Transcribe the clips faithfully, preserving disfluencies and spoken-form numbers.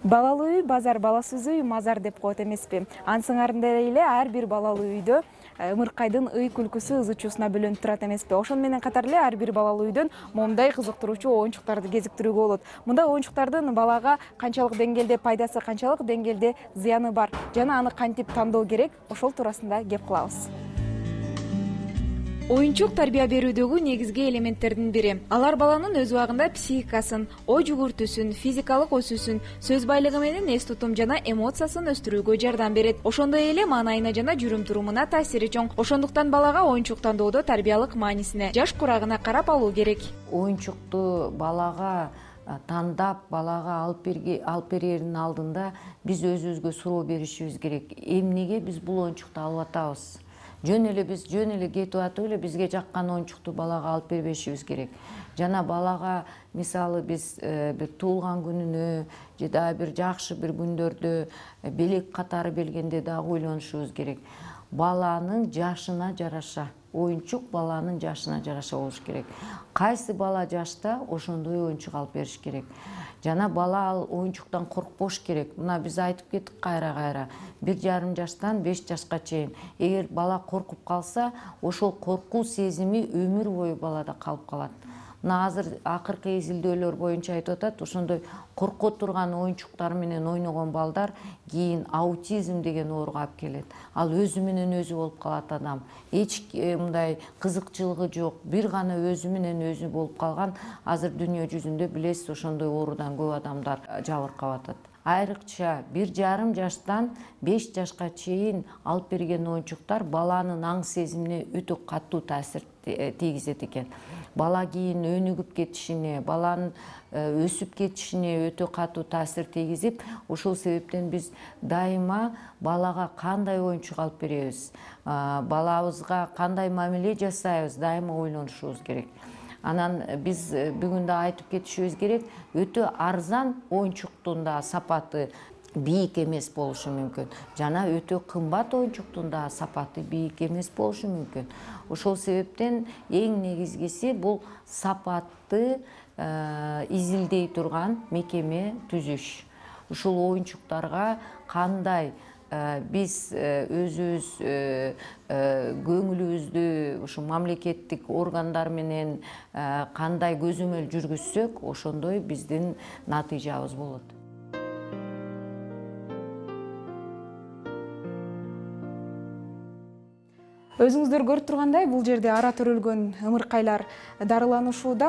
Балалуу үй базар, баласыз үй мазар деп коет эмеспи? Ансыңарында эле ар бир балалуу үйдө ымыркайдын ый күлкүсү ызы чуусуна бөлөнүп турат эмеспи? Ошону менен катар эле ар бир балалуу үйдөн момундай кызыктыруучу оюнчуктарды кезиктирүүгө болот. Мындай оюнчуктардын балага канчалык деңгээлде пайдасы, канчалык деңгээлде зыяны бар жана аны кантип тандоо керек, ошол туурасында кеп кылабыз. Оюнчук тарбия берүүдөгү негизги элементтердин бири. Алар баланын өз убагында психикасын, ой жүгүртүүсүн, физикалык өсүүсүн, сөз байлыгы менен эс тутум жана эмоциясын өстүрүүгө жардам берет. Ошондой эле маанайына жана жүрүм-турумуна таасири чоң. Ошондуктан балага оюнчук тандоодо тарбиялык маанисине, жаш курагына карап алуу керек. Оюнчукту балага тандап, балага алып берердин алдында биз өзүбүзгө суроо беришибиз керек. Эмнеге биз бул оюнчукту алып атабыз? Жөн эле биз жөн эле кетип атып эле бизге жаккан оюнчукту балага алып бербешибиз керек. Жана балага мисалы биз бир туулган күнүнө же дагы бир жакшы бир күндөрдө белек катары белгенде дагы ойлонушубуз керек. Баланын жашына жараша, оюнчук баланын жашына жараша болуш керек. Кайсы бала жашта ошондой оюнчук алып бериш керек. Жана бала ал оюнчуктан коркпош керек. Мына биз айтып кеттик кайра-кайра. бир жарым жаштан беш жашка чейин. Эгер бала коркуп калса, ошол коркуу сезими өмүр бою балада калып калат. Мына азыр акыркы изилдөөлөр боюнча айтып атат, ошондой корко турган оюнчуктар менен ойногон балдар кийин аутизм деген ооруга алып келет. Ал өзү менен өзү болуп калат адам. Эч мындай кызыкчылыгы жок, бир гана өзү менен өзү болуп калган. Азыр дүйнө жүзүндө билесиз, ошондой оорудан көп адамдар жабыркап атат. Айрыкча бир жарым жаштан беш жашка чейин алып берген оюнчуктар баланын аң сезимине өтө катуу таасир тийгизет экен. Бала кийин өнүгүп кетишине, баланын өсүп кетишине өтө катуу таасир тийгизип, ошол себептен биз дайыма балага кандай оюнчук алып беребиз, балабызга кандай мамиле жасайбыз, дайыма ойлонушубуз керек. Анан биз бүгүн да айтып кетишибиз керек, өтө арзан оюнчуктун да сапаты бийик эмес болушу мүмкүн. Жана өтө кымбат оюнчуктун да сапаты бийик эмес болушу мүмкүн. Ошол себептен эң негизгиси бул сапатты изилдей турган мекеме түзүш. Ушул оюнчуктарга кандай биз өзүбүз көңүлүбүздү ушу мамлекеттик органдар менен кандай көзөмөл жүргүзсөк, ошондой биздин натыйжабыз болот. Өзүңүздөр көрүп тургандай, бул жерде ара төрөлгөн ымыркайлар дарыланышууда.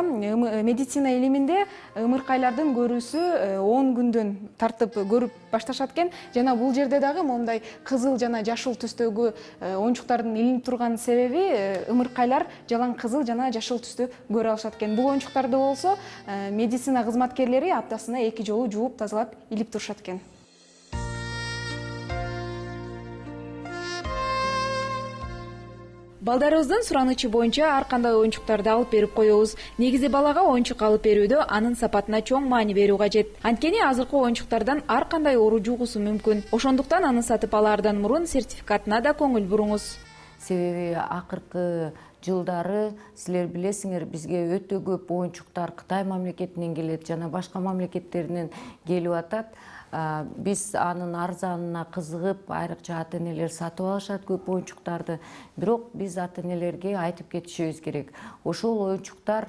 Медицина илиминде ымыркайлардын көрүүсү он күндөн тартып көрүп башташат экен. Жана бул жерде дагы мондай кызыл жана жашыл түстөгү оюнчуктардын илинип турган себеби ымыркайлар жалаң кызыл жана жашыл түстү көрө алышат экен. Бул оюнчуктарды болсо медицина кызматкерлери аптасына эки жолу жууп тазалап илип турушат экен. Балдарыбыздын суранычы боюнча ар кандай оюнчуктарды алып берип коебуз. Негизи балага оюнчук алып берүүдө анын сапатына чоң маани берүү кажет. Анткени азыркы оюнчуктардан ар кандай оору жугусу мүмкүн. Ошондуктан аны сатып алаардан мурун сертификатына да көңүл буруңуз. Себеби акыркы жылдары силер билесиңер, бизге өтө көп оюнчуктар Кытай мамлекетинен келет жана башка мамлекеттеринен келип атат. Биз анын арзанына кызыгып, айрыкча ата-энелер сатып алышат көп оюнчуктарды. Бирок биз ата-энелерге айтып кетишибиз керек. Ошол оюнчуктар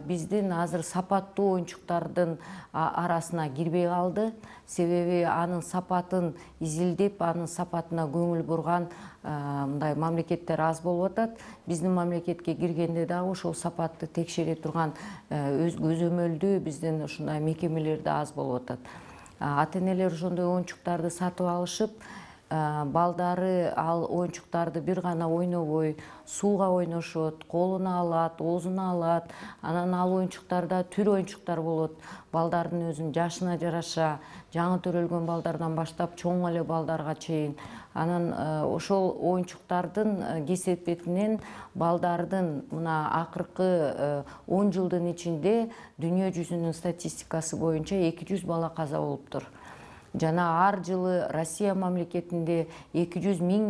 биздин азыр сапаттуу оюнчуктардын арасына кирбей калды. Себеби анын сапатын изилдеп, анын сапатына көңүл бурган мындай мамлекеттер аз болуп атат. Биздин мамлекетке киргенде дагы ошол сапатты текшере турган өз көзөмөлдүү биздин ушундай мекемелер да аз болуп атат. Ата-энелер ошондой оюнчуктарды сатып алышып, балдары ал оюнчуктарды бир гана ойнобой, сууга ойношот, колуна алат, оозуна алат. Анан ал оюнчуктарда түр оюнчуктар болот. Балдардын өзүнүн жашына жараша, жаңы төрөлгөн балдардан баштап чоң эле балдарга чейин. Анан ошол оюнчуктардын кесепетинен балдардын мына акыркы он жылдын ичинде дүйнө жүзүнүн статистикасы боюнча эки жүз бала каза болуптур. Жана ар жылы Россия мамлекетинде эки жүз миң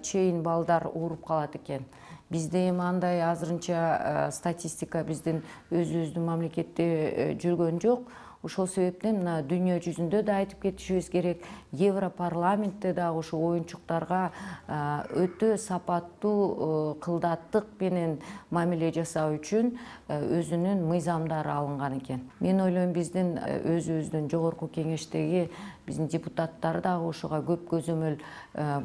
чейин балдар ооруп калат экен. Бизде эми андай азырынча статистика биздин өзүбүздүн мамлекетте жүргөн жок. Ошол себептен мына дүйнө жүзүндө да айтып кетишибиз керек, Европарламентте дагы ошо оюнчуктарга өтө сапаттуу кылдаттык менен мамиле жасоо үчүн өзүнүн мыйзамдары алынган экен. Мен ойлойм, биздин өзүбүздүн жогорку кеңештеги биздин депутаттар дагы ошого көп көзөмөл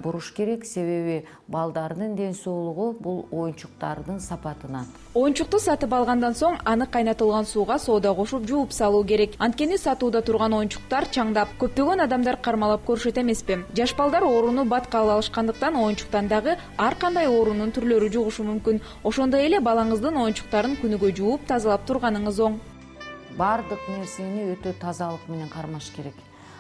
буруш керек, себеби балдардын ден соолугу бул оюнчуктардын сапатынан. Оюнчукту сатып алгандан соң аны кайнатылган сууга соода кошуп жууп салуу керек. Анткени сатууда турган оюнчуктар чаңдап, көптөгөн адамдар кармалап көрүшөт эмеспи? Жаш балдар ооруну бат кабыл алышкандыктан оюнчуктан дагы ар кандай оорунун түрлөрү жугушу мүмкүн. Ошондой эле балаңыздын оюнчуктарын күнүгө жууп тазалап турганыңыз оң. Бардык нерсени өтө тазалык менен кармаш керек.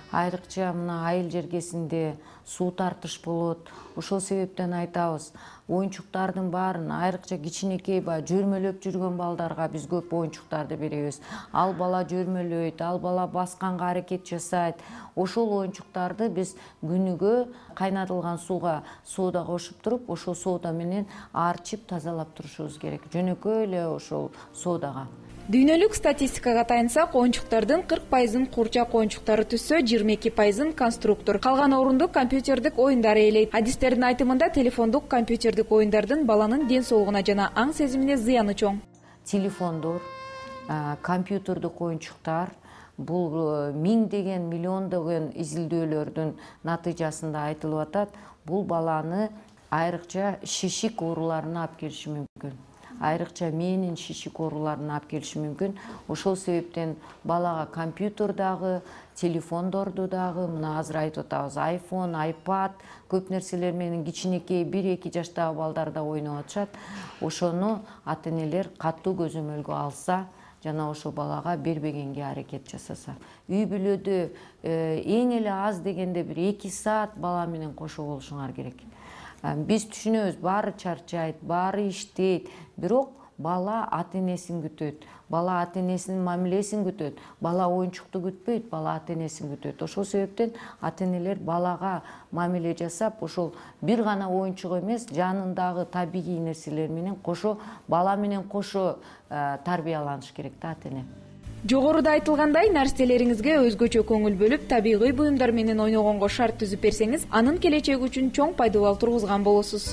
Айрыкча мына айыл жергесинде суу тартыш болот. Ошол себептен айтабыз, оюнчуктардын баарын, айрыкча кичинекей баягы жөрмөлөп жүргөн балдарга биз көп оюнчуктарды беребиз. Ал бала жөрмөлөйт, ал бала басканга аракет жасайт. Ошол оюнчуктарды биз күнүгө кайнатылган сууга соода кошуп туруп, ошол соода менен арчып тазалап турушубуз керек. Жөнөкөй эле ошол соодага. Дүйнөлүк статистикага таянсак, оюнчуктардын кырк пайызын курчак оюнчуктары түзсө, жыйырма эки пайызын конструктор, калган орунду компьютердик оюндар ээлейт. Адистердин айтымында телефондук компьютердик оюндардын баланын ден соолугуна жана аң сезимине зыяны чоң. Телефондор, компьютердик оюнчуктар бул миңдеген, миллиондогон изилдөөлөрдүн натыйжасында айтылып атат. Бул баланы айрыкча шишик ооруларына алып келиши мүмкүн. Айрыкча мээнин шишик ооруларына алып келиши мүмкүн. Ошол себептен балага компьютер дагы, телефондорду дагы, мына азыр айтып атабыз, айфон, айпад, көп нерселер менен кичинекей бир-эки жаштагы балдар да ойноп атышат. Ошону ата-энелер катуу көзөмөлгө алса, жана ошо балага бербегенге аракет жасаса. Үй бүлөдө эң эле аз дегенде бир эки саат бала менен кошо болушуңар керек. Биз түшүнөбүз, баары чарчайт, баары иштейт, бирок бала ата-энесин күтөт. Бала ата-энесинин мамилесин күтөт. Бала оюнчукту күтпөйт, бала ата-энесин күтөт. Ошол себептен ата-энелер балага мамиле жасап, ошол бир гана оюнчук эмес, жанындагы табигый нерселер менен кошо, бала менен кошо тарбияланыш керек да ата-эне. Жогоруда айтылгандай, нерселериңизге өзгөчө көңүл бөлүп, табигый буюмдар менен ойногонго шарт түзүп берсеңиз, анын келечеги үчүн чоң пайдалуу тургузган болосуз.